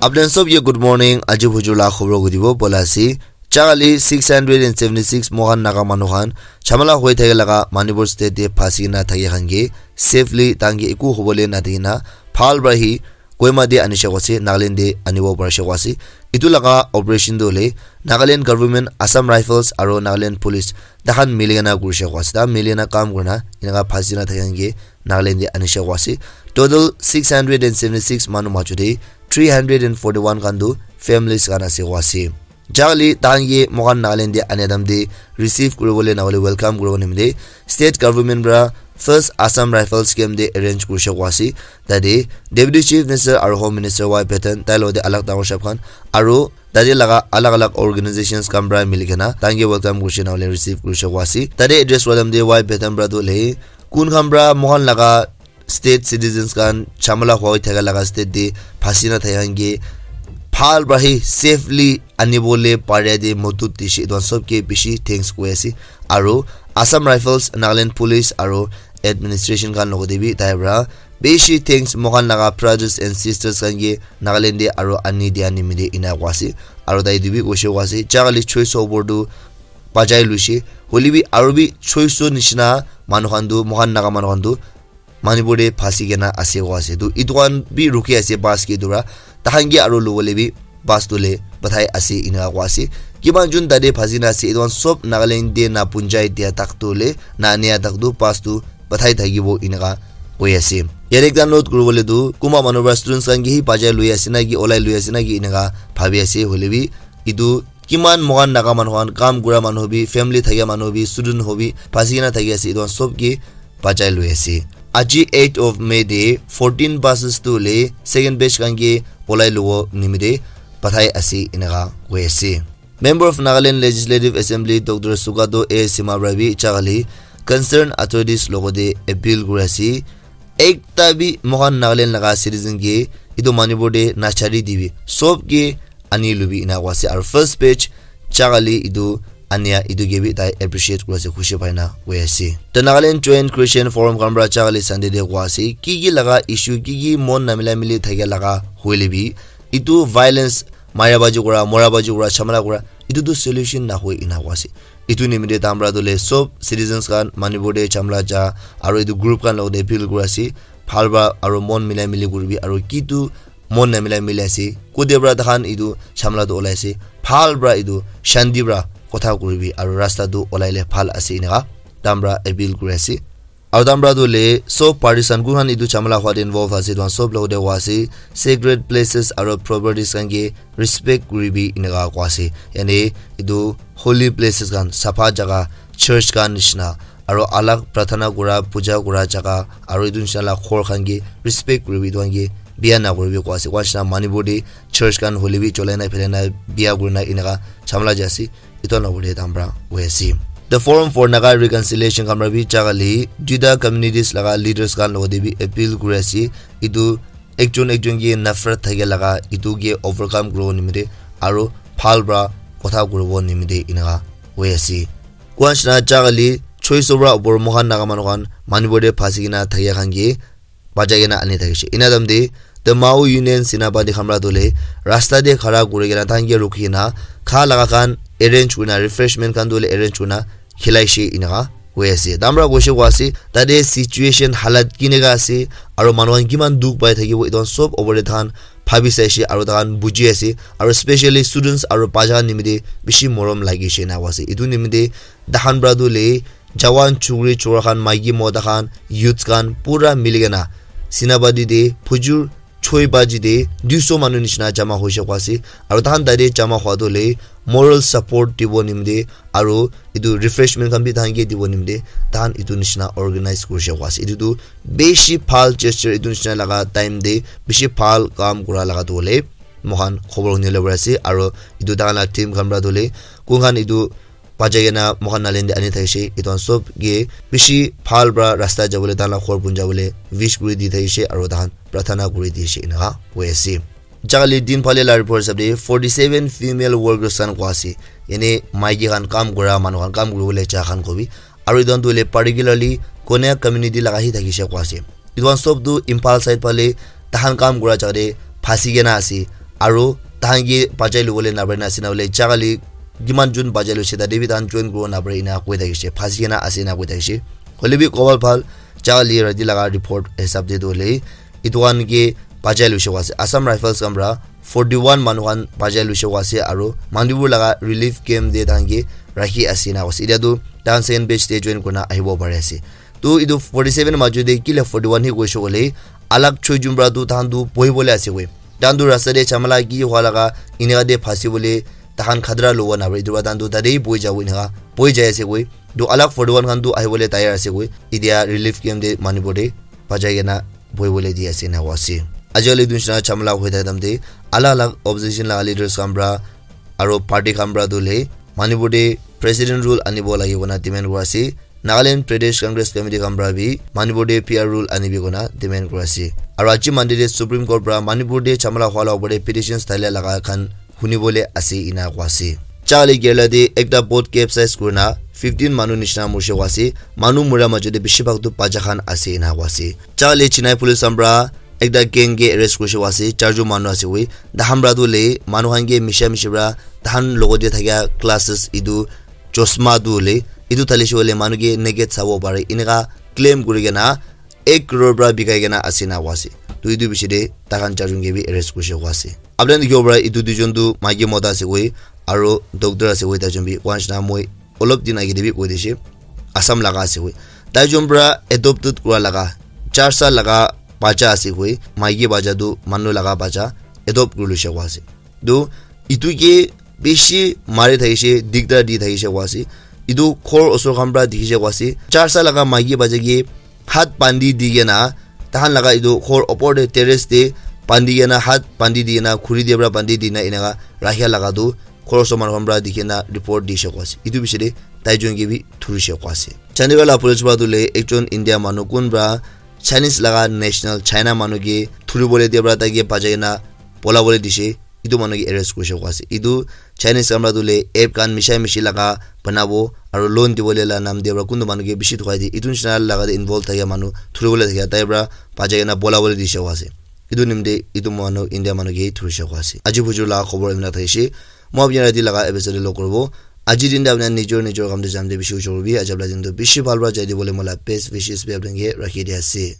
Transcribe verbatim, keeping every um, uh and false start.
Apni khan sob ke good morning. Aji bujur la khobor kutibo bola ase. Chakali six hundred and seventy six mohan Naga manu khan chamala hoi thake laga Manipur state te phasi na thake khan ke safely tangi eku hobole na dina phal bra hi Kohima te anishe koise, Nagaland te anibo parishe koise. Itu laga operation tu hoile Nagaland government, Assam Rifles aro Nagaland Police tahan miligena kurishe koise. Ta miligena kam kurina enaka phasi na thake khan ke Nagaland te anishe koise. Total six hundred and seventy six manu majo te three hundred and forty one khan tu families khan ase koise. Jali tangi mohan Nagaland te ane dam te receive kuribole na hole welcome kuribo nimite state government pra first Assam Rifles camp te arrange kurishe koise. Tate Deputy Chief Minister aro Home Minister Y Patton tai lo te alag dangor shab khan aro tate laga alag alag organizations khan pra milikena tangi welcome kurishe na hole receive kurishe koise. Tate address wadam te Y Patton pra tu le kun khan pra mohan laga state citizens khan chamala hoi thaka laga state te phasi na thaka ke phal pra hi safely anibole pare de motut dishi don sob ke bishi thanks koi ase. Aro Assam Rifles, Nagaland Police aro administration khan logote bi tai pra bishi thanks mohan laga brothers and sisters khan ke Nagaland de aro ani dia nimide ina kwa ase. Aro tai dibi koshe kwa ase chakali choice over tu bajai luishe. Hoilebi aro bi choice nishina manu khan tu mohan Naga manu khan tu Manipur te phasi kena ase koa ase. Tu itu khan bi rukhi ase bus ke dura. Tahan ke aro lobole bi bus tu le pathai ase ina koa ase. Kiman jun tate phasi na ase itu khan sob Nagaland te na punjai dia tak tu le na ania tak tu bus tu pathai thakibo inaka koi ase. Yate ekta note kuribole tu kunba manu pra students khan ke hi bajai lui ase na ki olai lui ase na ki inaka bhabi ase hoile bi itu kiman mohan Naga manu khan kam kura manu hobi family thakia manu hobi student hobi phasi kena thaki ase itu khan sob ke bachai lui ase. Aji eight of May de fourteen buses tu le second batch khan ke olai luwo nimite pathai ase inaka koi ase. Member of Nagaland Legislative Assembly Doctor Sugato A Sima pra bi chakali concerned authorities logote appeal kuri ase. Ekta bi mohan Nagaland laga citizen ke itu Manipur de nachari dibi sob ke ani lubi ina kwa ase. Aro first batch chakali itu ania itu ke bi tai appreciate kura ase, khushi pai na koi ase. The Nagaland Joint Christian Forum khan pra chakali Sunday de kwa ase ki ki laga issue ki ki mon namila mili thakia laga hoile bi itu violence mara baji kura, mora baji kura, chamala kura itu tu solution na hoi ina kwa ase. Itu nimite tamra tu le sob citizens khan Manipur de chamla ja aro itu group khan logote appeal kura ase. Phal ba aro mon milai mili kuribi aro ki tu mon na milai mili ase. Kode pra takhan itu chamla tu olai ase. Phal pra itu shanti pra kotha kuribi aro rasta tu olai le phal ase inaka tamra appeal kuri ase. Aro tamra tu le sob parties khan kun khan itu chamala hwa te involve ase itu khan sob logote hwa ase. Sacred places aro properties khan ke respect kuribi inaka kwa ase. Yani itu holy places khan sapha jaga church khan nishina aro alag prathana kura puja kura jaga aro itu nishina la khor khan ke respect kuribi itu khan ke bia na kuribi kwa ase. Kwa nishina Manipur de church khan hoile bi cholai na philai na bia kurina inaka chamala ja ase. Itu na hoile tambra hoi ase. The Forum for Naga Reconciliation khan pra bi chakali duita communities laga leaders khan logote bi appeal kuri ase. Itu ekjon ekjon ke nafrat thake laga itu ke overcome kuribo nimite aro phal pra kotha kuribo nimite inaka hoi ase. Kwa nishina chakali choice pra upor mohan Naga manu khan Manipur de phasi kena thakia khan ke bachai kena ani thakishe. Ina dam de the Mao Union Senapati khan pra tu le rasta de khara kuri kena tahan ke rukhi kena kha laga khan arrange kurina refreshment khan tu le arrange kurina khilaishe inaka koi ase. Tamra koishe kwa ase tate situation halat kineka ase aro manu khan kiman dukh pai thakibo itu khan sob opor de tahan bhabi saishe aro tahan buji ase aro specially students aro bacha khan nimite bishi morom lagishe ena koi ase. Itu nimite tahan pra tu le jawan chukri chura khan maiki mota khan youths khan pura miligena Senapati de phujur choi baji de duiso manu nishina jama hoishe kwa ase aro tahan tate jama hwa tu le moral support dibo nimite aro itu refreshment khan bi tahan ke dibo nimite tahan itu nishina organize kurishe kwa ase. Itu tu bishi bhal gesture, itu nishina laga time de bishi bhal kam kura laga tu hole mohan khobor hunile pari ase aro itu tahan la team khan pra tu hole kun khan itu bachai kena moikhan Nagaland te ani thakishe, etu khan sob ke bishi bhal pra rasta jabole, tahan la ghor pon jabole wish kuri di thakishe, aro tahan prarthana kuri dishe, eneka hoi ase. Jagale din phale la report hisab te forty seven female workers khan kwa ase, yane maiki khan, kam kura manu khan, kam kuribole ja khan kobi, aro etu khan tu hoile particularly Konyak community laga hi thakishe kwa ase. Etu khan sob tu Imphal side phale tahan kam kura jaga te phasi kena ase, Aro tahan ke bachai lobole naparina ase na hoile jaga le kiman jun bachai loise tate bi tahan join kuribo naparina koi thakishe, phasi kena ase na koi thakishe. Hoile bi kobal bhal jaga le rati laga report hisab te tu hoile etu khan ke bachai loise koa ase. Assam Rifles khan para forty one manu khan bachai loise koa ase aro Manipur laga relief camp te tahan ke rakhi ase na koa ase. Etia tu tahan second batch te join kurina ahibo pari ase. Tu etu forty seven majot te kile forty one he koise koile alag choi jun para tu tahan tu bohi bole ase koi. Tahan tu rasta te chamala ki hua laga eneka te phasi bole tahan khatra lobo na pare. Etu para tahan tu tate bohi jabo eneka bohi jai ase koi. Tu alag forty one khan tu ahi bole tayar ase koi. Etia relief camp te Manipur te bachai kena bohi bole di ase eneka koa ase. Aji kali etu nishina chamala hoi thaka time te alag alag opposition laga leaders khan para aro party khan para tu le Manipur te president rule anibo lage koina demand kura ase. Nagaland Pradesh Congress Committee khan para bi Manipur te P R rule anibi koina demand kura ase. Aro aji Monday te Supreme Court para Manipur te chamala hua la opor te petitions dalia laga khan huni bole ase ena koa ase. Jaga le Kerala te ekta boat capsize kurina fifteen manu nishina morise koa ase. Manu mura majot te bishi bhag tu bacha khan ase ena koa ase. Jaga le Chennai police khan para ekta gang ke arrest kurise koa ase, charjon manu ase koi. Tahan para tu le manu khan ke misha mishi para tahan logot te thakia glasses etu chosma tu hoile etu thalishe hoile manu ke naked sabo pare eneka claim kuri kena ek crore para bikai kena ase na koa ase. Tu etu bishi te taikhan charjon ke bi arrest kurise koa ase. Apni khan dikhibo para etu duijon tu maiki mota ase koi aro doctor ase koi taijon bi koa nishina moi olop din age te bi koi dishe Assam laga ase koi. Taijon para adopted kura laga char sal laga bacha ase koi, maiki bacha tu manu laga bacha adopt kuri loise koa ase. Tu etu ke bishi mari thakishe, digdar di thakishe koa ase. Etu ghor osor khan para dikhishe koa ase. Char sal laga maiki bacha ke hat bandi di kena, tahan laga etu ghor opor te terrace te bandi kena, hat bandi di kena, khuri te para bandi di kena eneka rakhia laga tu ghor osor manu khan para dikhi kena report dishe koa ase. Etu bishi te taijon ke bi thurishe koa ase. Chandigarh la police para tu le ekjon India manu kun para Chinese laga national China manu ke thuri bole dia para tai ke bachai kena bola bole dishe. Etu manu ke arrest kurise koa ase. Etu Chinese khan para tu le app khan misha mishi laga banabo aro loan dibole la nam dia para kuntu manu ke bishi thukai di. Etu nishina laga te involve thakia manu thuri bole thakia tai para bachai kena bola bole dishe koa ase. Etu nimite etu manu India manu ke thurishe koa ase. Aji bujur laga khobor emna thakishe. Moi apni khan rati laga episode te log kuribo. Aji din te apni khan nijor nijor kam te jam te bishi ujor kuribi. Aji apni khan din tu bishi bhal para jai dibole moi la best wishes bi apni khan ke rakhi dia ase.